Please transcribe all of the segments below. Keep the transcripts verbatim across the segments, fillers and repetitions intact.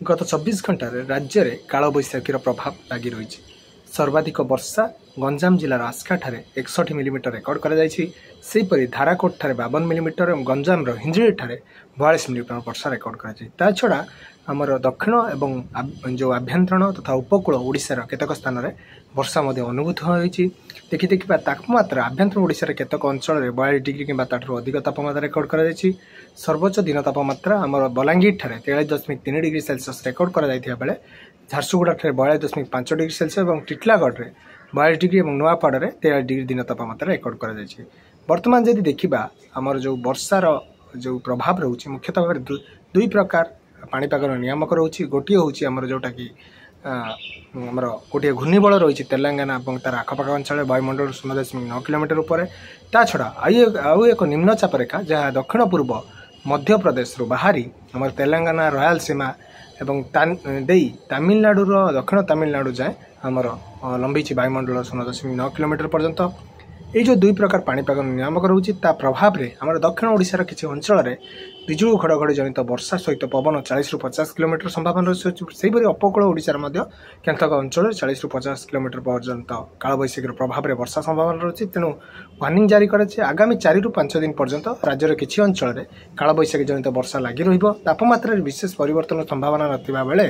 ଗତ ଚବିଶ ଘଣ୍ଟାରେ ରାଜ୍ୟରେ କାଳବୈଶାଖୀର ପ୍ରଭାବ ଲାଗି ରହିଛି। ସର୍ବାଧିକ ବର୍ଷା ଗଞ୍ଜାମ ଜିଲ୍ଲାର ଆସ୍କାଠାରେ ଏକଷଠି ମିଲିମିଟର ରେକର୍ଡ କରାଯାଇଛି। ସେହିପରି ଧାରାକୋଟଠାରେ ବାବନ ମିଲିମିଟର ଏବଂ ଗଞ୍ଜାମର ହିଞ୍ଜିଳିଠାରେ ବୟାଳିଶ ମିଲିମିଟର ବର୍ଷା ରେକର୍ଡ କରାଯାଇଛି। ତା ଛଡ଼ା ଆମର ଦକ୍ଷିଣ ଏବଂ ଯେଉଁ ଆଭ୍ୟନ୍ତରୀଣ ତଥା ଉପକୂଳ ଓଡ଼ିଶାର କେତେକ ସ୍ଥାନରେ ବର୍ଷା ମଧ୍ୟ ଅନୁଭୂତ ହୋଇଛି। ଦେଖି ଦେଖିବା ତାପମାତ୍ରା, ଆଭ୍ୟନ୍ତରୀଣ ଓଡ଼ିଶାର କେତେକ ଅଞ୍ଚଳରେ ବୟାଳିଶ ଡିଗ୍ରୀ କିମ୍ବା ତାଠାରୁ ଅଧିକ ତାପମାତ୍ରା ରେକର୍ଡ କରାଯାଇଛି। ସର୍ବୋଚ୍ଚ ଦିନ ତାପମାତ୍ରା ଆମର ବଲାଙ୍ଗୀରଠାରେ ତେୟାଳିଶ ଦଶମିକ ତିନି ଡିଗ୍ରୀ ସେଲସିୟସ୍ ରେକର୍ଡ କରାଯାଇଥିବା ବେଳେ ଝାରସୁଗୁଡ଼ାଠାରେ ବୟାଳିଶ ଦଶମିକ ପାଞ୍ଚ ଡିଗ୍ରୀ ସେଲସିୟସ୍ ଏବଂ ଟିଟଲାଗଡ଼ରେ ବୟାଳିଶ ଡିଗ୍ରୀ ଏବଂ ନୂଆପଡ଼ାରେ ତେୟାଳିଶ ଡିଗ୍ରୀ ଦିନ ତାପମାତ୍ରା ରେକର୍ଡ କରାଯାଇଛି। ବର୍ତ୍ତମାନ ଯଦି ଦେଖିବା, ଆମର ଯେଉଁ ବର୍ଷାର ଯେଉଁ ପ୍ରଭାବ ରହୁଛି, ମୁଖ୍ୟତଃ ଭାବରେ ଦୁଇ ପ୍ରକାର ପାଣିପାଗର ନିୟାମକ ରହୁଛି। ଗୋଟିଏ ହେଉଛି ଆମର ଯେଉଁଟାକି ଆମର ଗୋଟିଏ ଘୂର୍ଣ୍ଣିବଳ ରହିଛି ତେଲେଙ୍ଗାନା ଏବଂ ତାର ଆଖପାଖ ଅଞ୍ଚଳରେ ବାୟୁମଣ୍ଡଳ ଶୂନ ଦଶମିକ ନଅ କିଲୋମିଟର ଉପରେ। ତା ଛଡ଼ା ଆଉ ଆଉ ଏକ ନିମ୍ନଚାପ ରେଖା, ଯାହା ଦକ୍ଷିଣ ପୂର୍ବ ମଧ୍ୟପ୍ରଦେଶରୁ ବାହାରି ଆମର ତେଲେଙ୍ଗାନା, ରୟାଲସୀମା ଏବଂ ଦେଇ ତାମିଲନାଡ଼ୁର ଦକ୍ଷିଣ ତାମିଲନାଡ଼ୁ ଯାଏଁ ଆମର ଲମ୍ବିଛି ବାୟୁମଣ୍ଡଳ ଶୂନ ଦଶମିକ ନଅ କିଲୋମିଟର ପର୍ଯ୍ୟନ୍ତ। ଏଇ ଯେଉଁ ଦୁଇ ପ୍ରକାର ପାଣିପାଗ ନିୟାମକ ରହୁଛି, ତା ପ୍ରଭାବରେ ଆମର ଦକ୍ଷିଣ ଓଡ଼ିଶାର କିଛି ଅଞ୍ଚଳରେ ବିଜୁଳି ଘଡ଼ଘଡ଼ି ଜନିତ ବର୍ଷା ସହିତ ପବନ ଚାଳିଶରୁ ପଚାଶ କିଲୋମିଟର ସମ୍ଭାବନା ରହିଛି। ସେହିପରି ଉପକୂଳ ଓଡ଼ିଶାର ମଧ୍ୟ କେତେକ ଅଞ୍ଚଳରେ ଚାଳିଶରୁ ପଚାଶ କିଲୋମିଟର ପର୍ଯ୍ୟନ୍ତ କାଳବୈଶାଖୀର ପ୍ରଭାବରେ ବର୍ଷା ସମ୍ଭାବନା ରହିଛି। ତେଣୁ ୱାର୍ଣ୍ଣିଂ ଜାରି କରାଯାଇଛି, ଆଗାମୀ ଚାରିରୁ ପାଞ୍ଚ ଦିନ ପର୍ଯ୍ୟନ୍ତ ରାଜ୍ୟର କିଛି ଅଞ୍ଚଳରେ କାଳବୈଶାଖୀ ଜନିତ ବର୍ଷା ଲାଗି ରହିବ। ତାପମାତ୍ରାରେ ବିଶେଷ ପରିବର୍ତ୍ତନ ସମ୍ଭାବନା ନଥିବା ବେଳେ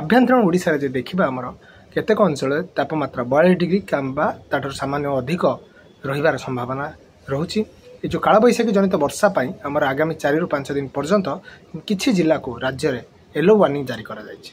ଆଭ୍ୟନ୍ତରୀଣ ଓଡ଼ିଶାରେ ଯଦି ଦେଖିବା, ଆମର କେତେକ ଅଞ୍ଚଳରେ ତାପମାତ୍ରା ବୟାଳିଶ ଡିଗ୍ରୀ କିମ୍ବା ତାଠାରୁ ସାମାନ୍ୟ ଅଧିକ ରହିବାର ସମ୍ଭାବନା ରହୁଛି। ଏ ଯେଉଁ କାଳବୈଶାଖୀ ଜନିତ ବର୍ଷା ପାଇଁ ଆମର ଆଗାମୀ ଚାରିରୁ ପାଞ୍ଚ ଦିନ ପର୍ଯ୍ୟନ୍ତ କିଛି ଜିଲ୍ଲାକୁ ରାଜ୍ୟରେ ୟେଲୋ ୱାର୍ଣ୍ଣିଂ ଜାରି କରାଯାଇଛି।